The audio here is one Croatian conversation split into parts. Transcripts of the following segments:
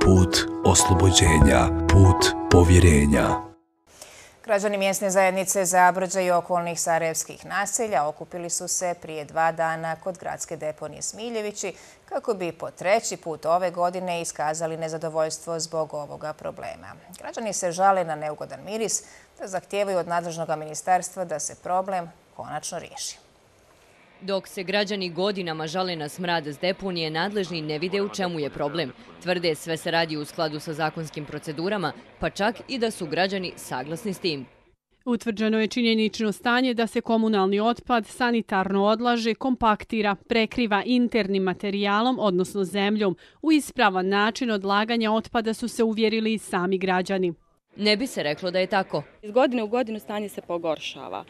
put oslobođenja, put povjerenja. Građani mjesne zajednice Zabrođa i okolnih sarajevskih naselja okupili su se prije 2 dana kod gradske deponije Smiljevići kako bi po 3. put ove godine iskazali nezadovoljstvo zbog ovoga problema. Građani se žale na neugodan miris te zahtijevaju od nadležnog ministarstva da se problem konačno riješi. Dok se građani godinama žale na smrad s deponije, nadležni ne vide u čemu je problem. Tvrde sve se radi u skladu sa zakonskim procedurama, pa čak i da su građani saglasni s tim. Utvrđeno je činjenično stanje da se komunalni otpad sanitarno odlaže, kompaktira, prekriva internim materijalom, odnosno zemljom. U ispravan način odlaganja otpada su se uvjerili i sami građani. Ne bi se reklo da je tako. Iz godine u godinu stanje se pogoršava.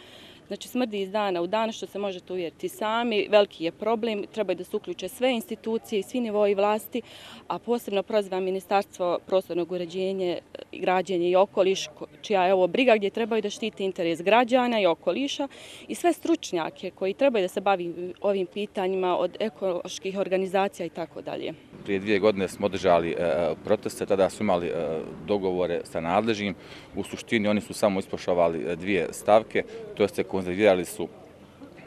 Znači smrdi iz dana u dan, što se možete uvjeriti sami. Veliki je problem, trebaju da se uključe sve institucije i svi nivoi vlasti, a posebno prozivam Ministarstvo prostornog uređenja, građenja i okoliš, čija je ovo briga gdje trebaju da štiti interes građana i okoliša i sve stručnjake koji trebaju da se bavi ovim pitanjima od ekoloških organizacija i tako dalje. Prije 2 godine smo održali proteste, tada su imali dogovore sa nadležnim. U suštini oni su samo ispoštovali 2 stavke, to jest konzervirali su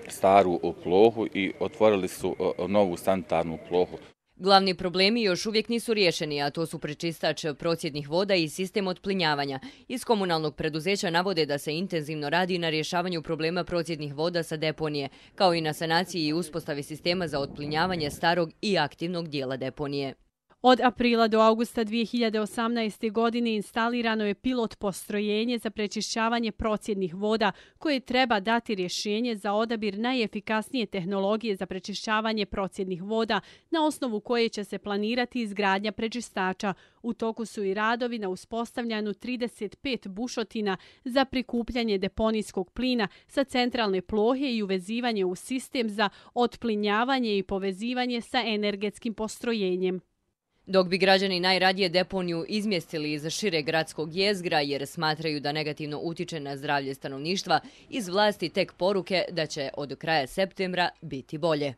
staru plohu i otvorili su novu sanitarnu plohu. Glavni problemi još uvijek nisu riješeni, a to su prečistač procjednih voda i sistem otplinjavanja. Iz komunalnog preduzeća navode da se intenzivno radi na rješavanju problema procjednih voda sa deponije, kao i na sanaciji i uspostavi sistema za otplinjavanje starog i aktivnog dijela deponije. Od aprila do augusta 2018. godine instalirano je pilot postrojenje za prečišćavanje procjednih voda koje treba dati rješenje za odabir najefikasnije tehnologije za prečišćavanje procjednih voda na osnovu koje će se planirati izgradnja prečistača. U toku su i radovi na uspostavljanju 35 bušotina za prikupljanje deponijskog plina sa centralne plohe i uvezivanje u sistem za otplinjavanje i povezivanje sa energetskim postrojenjem. Dok bi građani najradije deponiju izmjestili iz šireg gradskog jezgra jer smatraju da negativno utiče na zdravlje stanovništva, iz vlasti tek poruke da će od kraja septembra biti bolje.